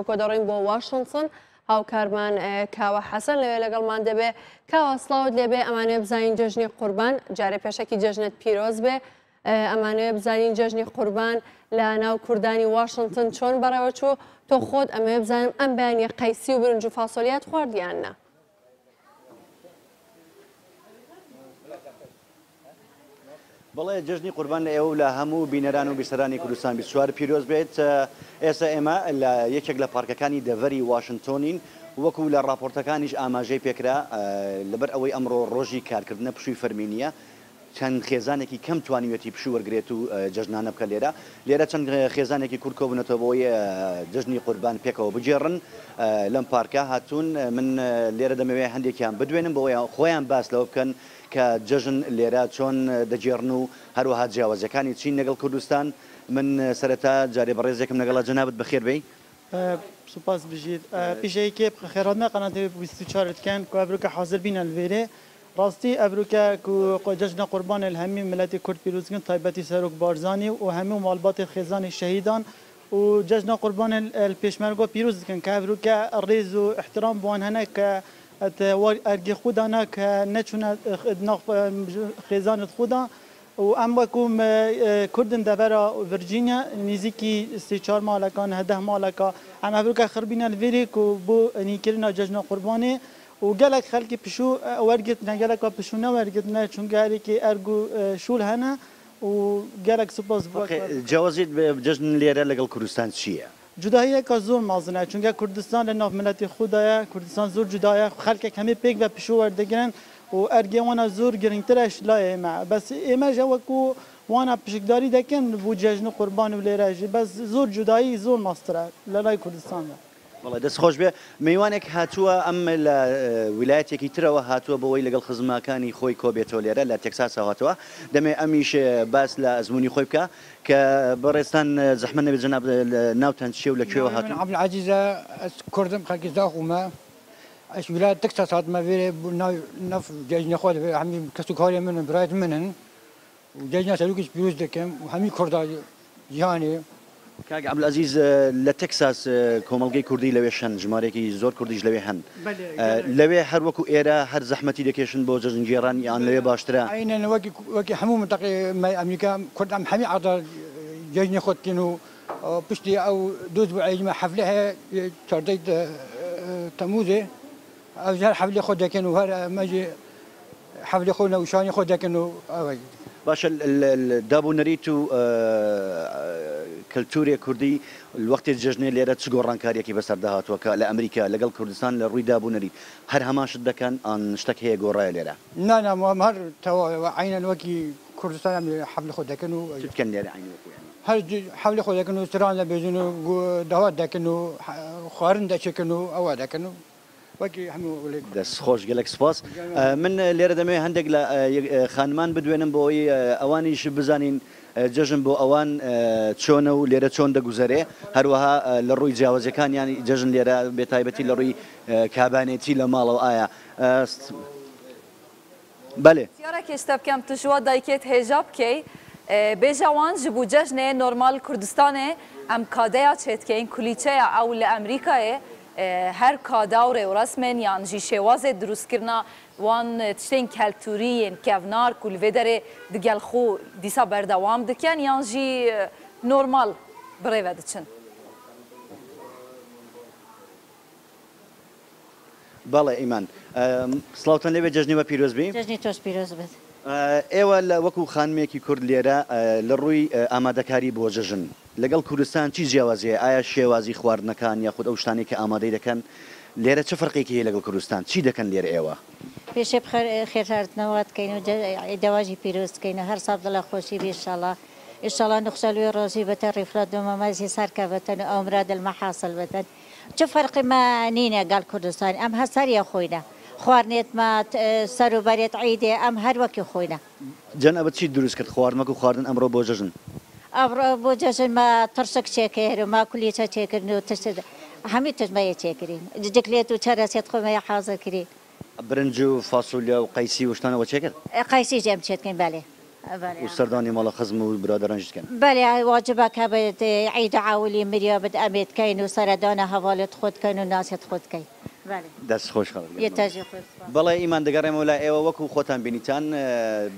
کۆ دەڕۆین بۆ واشنتن هاوکارمان کاوە حەسەن لەوێ لەگەڵمان دەبێ. کاوە سڵاوت لێبێ، ئەمانەوێ بزانین جەژنی قوربان، جارێ پێشەکی جەژنت پیرۆز بێ، ئەمانەوێ بزانین جەژنی قوربان لە ناو کوردانی واشنتن چۆن بەڕێوە چوو، تۆ خۆت ئەمەوێ بزانم ئەم بەیانیە قەیسی و برنج و فاسۆلیات خوارد یان نا؟ بەڵێ جەژنی قوربان لە ئێوە و لە هەموو بینەران و بیسەرانی کوردستان 24 پیرۆز بێت. ئێستا ئێمە لە یەکێک لە پارکەکانی دەڤەری واشنتۆنین، وەکو لە ڕاپۆرتەکانیش ئاماژەی پێکرا، لەبەر ئەوەی ئەمڕۆ ڕۆژی کارکردنە پشووی فەرمی نییە، چەند خێزانێکی کەم توانیویەتی پشوو وەرگرێت و جەژنانە بکە لێرە. لێرە چەند خێزانێکی کورد کۆبوونەتەوە بۆ ئەوەی جەژنی قوربان پێکەوە بگێڕن لەم پارکە هاتوون. من لێرە دەمەوێت هەندێکیان بدوێنم بۆ ئەوەی خۆیان باس لەوە بکەن کە جەژن لێرە چۆن دەگێڕن و هەروەها جیاوازیەکانی چین لەگەڵ کوردستان. من سەرەتا جارێ بەڕێزێکم لەگەڵە، جەنابت بەخێر بێی. سوپاس بژیت. پیشەی کێ خێرات قەناتی 24 دکەن کو ئەڤروکە حاضر بینە لڤێرێ. ڕاستی ئەڤروکە کو جەژنە قوربانێ لە هەمی ملەتی کورد پیروز دکەن، تایبەتی سەرۆک بارزانی و هەموو ماڵباتی خێزانی شەهیدان و جەژنە قوربانێ لە پێشمەرگا پیروز دکەن کە ئەڤروکە ڕێز و ئیحترام بوان هەنە کە ئەرگی خودانە کە نەچوونە خێزانت خودا و ئەم وەکو کوردن دەڤەرا ڤرجینیا نزیکی 3-4 ماڵەکان 10 ماڵەکە ئەم ئەڤروکە خربینە لڤێرێ کو بۆ نیکردنا جەژنە قوربانێ و گەلەک خەلکی پشوو وەرگرتنە، گەلەکا پشوو نەوەرگرتنە چونکە هەرێکی ئەرگ و شوول هەنە و گەلەک سوپاس بۆ. جیاوازیت جەژن لێرە لەگەڵ کوردستان چییە؟ جوداییەکە زۆر مەزنە چونکە کوردستان لە ناو ملەتی خودایە، کوردستان زۆر جودایە، خەلکێک هەمێ پێک بە پشوو وەردەگرن و ئەرگێوانە زۆر گرنگترش لای ئێمە، بەس ئێمەش وەکو وانە پشکداری دەکەن بۆ جەژن و قوربان و لێرەژی، بەس زۆر جودایی زۆر مەزترە لە لای کوردستاندا. بەڵێ دەست خۆش بێ. میوانێک هاتووە ئەم لە ویلایەتێکی ترەوە هاتووە بۆ ئەوەی لەگەڵ خزمەکانی خۆی کۆبێتەوە لێرە لە تێکساسەوە هاتووە، دەمێ ئەمیش باس لە ئەزمموی خۆی بکە کە بەڕێزتان زەحمەت نەبێت جەناب ناوتان چییە و لە کوێوە هاتوون؟ عەبدولعەزیزە، کوردم، خەڵکی زاخۆمە، ئەش ویلایەت تەکساس هاتمە وێرێ ناو جەژنە خۆ هەمی کەس و کاری منن، برایت منن و جەژنە سەرۆکیش پیرۆز دەکەم و هەمی کوردە جیهانێ. کاک عەبدولعەزیز لە تەکساس کۆمەڵگەی کوردی لەوێ هەن، ژمارەیەکی زۆر کوردیش لەوێ هەن، لەوێ هەر وەکو ئێرە هەر زەحمەتی دەکێشن بۆ جەژنگێڕان یان لەوێ باشترە؟ عەینەن وەکی هەموو منتەقەی ئەمریکا کورد ئەم هەمی عەرزا جەژنی خۆ دکەن و پشتی ئەو دوو ئەسبوعێ حەفلە هەیە 14 تەمووزێ، ئەو هەر حەفلەی خۆ دەکەن و هەر مەجی حەفلەی خۆ نەوشانی خۆ دەکەن و ئەوەی. باشە داب و نەریت و کەلتورێ کوردی وەختی جەژنێ لێرە چ گۆڕانکاریەکی بەسەردا هاتووە کە لە ئەمریکا لەگەڵ کوردستان لە ڕووی داب و نەریت هەر هەمان شت دەکەن ئان شتێک هەیە گۆڕایە لێرە؟ نا نا هەر تەواو عەینەن وەکی کوردستان ئەم حەفلە خۆ دەکەن و چ بکەن لێرە عەینەن وەکو یانی؟ هەر حەفلە خۆ دەکەن و ستران دەبێژن و داوات دەکەن و خوارن دەچێکن و ئەوە دەکەن و وەکی هەموو. دەست خۆش، گەلەک سپاس. من لێرە دەمەوێت هەندێک لە خانمان بدوێنم بۆ ئەوەی ئەوانیش بزانین جەژن بۆ ئەوان چۆنە و لێرە چۆن دەگوزەرێ، هەروەها لە ڕووی جیاوازیەکانیان جەژن لێرە بێتایبەتی لە ڕووی کابانێتی لە ماڵەوە ئایا بەلێ. پرسیارێک شتە بکەم تو ژوا دایکێت هێژا بکەی بێژە وان ji بۆ جەژنێ نۆرمال کوردستانێ ئەم کادەیا چێتکەین کولیچەیە ئەو لە ئەمریکایێ هەر کادا و ڕێوڕەسمێن یان ژی شێوازێ دروستکردنا وان تشتێن کەلتوریên کevnar ku li vê derê digel xwe dîsa berdewam dikin yan jî normal birêve diçin. بەڵێ ئیمان، سڵاوتان لێبێ، جەژنی وە پیرۆز بی. جەژنی تۆش پیرۆز بێت. ئێوە لە وەکو خانمێکی کورد لێرە لە ڕووی ئامادەکاری بۆ جەژن لەگەڵ کوردستان چی جیاوازی هەیە؟ ئایا شێوازی خواردنەکان یاخود ئەو شتانەی کە ئامادەی دەکەن لێرە چ فەرقێکی هەیە لەگەڵ کوردستان؟ چی دەکەن لێرە ئێوە؟ پێشێ خێرهاتنەوە دکەین و دەواجی پیرۆز دکەین و هەر ساڵ دڵە خۆشی بی ئینشاڵڵا. ئینشاڵڵا نخشەلوێ ڕۆژی بەتە ڕیفرەندۆمە مەزی سەرکە بەتەن و ئەو مراد المەحاسڵ بەتەن. چ فەرقی ما نینە گەڵ کوردستان، ئەم هەر سەریە خۆینە، خواردنێت ما سەر و بەرێت عیدێ ئەم هەر وەکی خۆینە. جەنابت چیت دروست کرد خواردن وەکو خواردن ئەمڕۆ بۆ جەژن؟ ئەمڕۆ بۆ جەژن ما ترشک چێکرد و ما کولیچە چێکردن و تشت هەمی تشت مەیە چێکردین، جکلێت و چەرەسێت خۆ مەیە حازر کرین. برنج و فاسۆلیا و قەیسی و شتانەوە چێکرد؟ قەیسی ئەم چێتکەین بەلێ. و سەردانی ماڵە خزم و برادەرانیش دکەن. بەلێ واجبە کە بت عید عەولی مریا بت ئەمێ دکەین و سەردانە هەڤالت خۆ دکەین و ناسێت خۆ دکەین. بەلێ. دەست خۆش خەڵک یە تاژی خۆش سپاس. بەڵێ ئیمان دەگەڕێمەوە لای ئێوە وەکو خۆتان بینیتان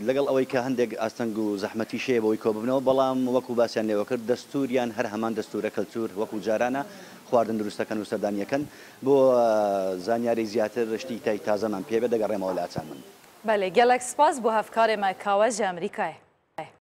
لەگەڵ ئەوەی کە هەندێک ئاستەنگ و زەحمەتیش هەیە بەوەی کۆببنەوە بەڵام وەکو باسیان لێوە کرد دەستوریان هەر هەمان دەستورە کەلتور وەکو جارانە خواردن دروست دەکەن و سەردانیەکەن بۆ زانیاری زیاتر شتی تای تازەمان پێ بێت دەگەڕێمەوە لاتان من. بەلێ گەلەک سپاس بۆ هەڤکارێ مە کاوە ژە ئەمریکایێ.